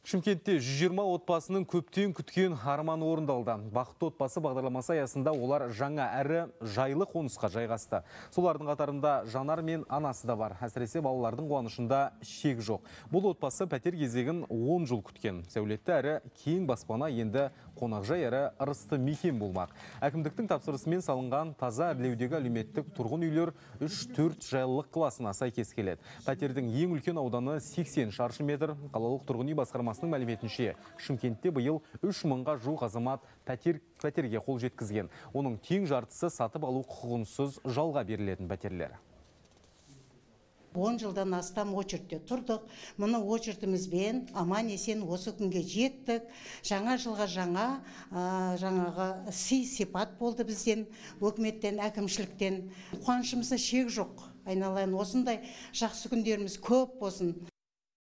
Шымкентте 120 отбасының көптен күткен арманы орындалды. Бақытты отбасы бағдарламасы аясында олар жаңа әрі жайлы қонысқа жайғасты. Солардың қатарында жанар мен анасы да бар. Әсіресе балалардың қуанышында шек жоқ. Бұл отбасы пәтер кезегін 10 жыл күткен. Сәулетті әрі кең баспана енді қонақжай әрі ырысты мекен болмақ. Әкімдіктің тапсырысымен салынған таза әрлеудегі әлеуметтік тұрғын үйлер 3-4 жайлылық класына сәйкес келеді. Пәтердің ең үлкен ауданы 80 шаршы метр. Қалалық тұрғын үй басқармасының мәліметінше, Шымкентте биыл 3 мыңға жуық азамат пәтерге қол жеткізген. Оның тең жартысы сатып алу құқығынсыз жалға берілетін пәтерлер. 10 жылдан астам очередте тұрдық. Мұны очередімізбен аман-есен осы күнге жеттік. Жаңа жылға жаңағы сый-сипат болды бізден, өкіметтен, әкімшіліктен. Қуанышымызда шек жоқ. Айналайын, осындай жақсы күндеріміз көп болсын.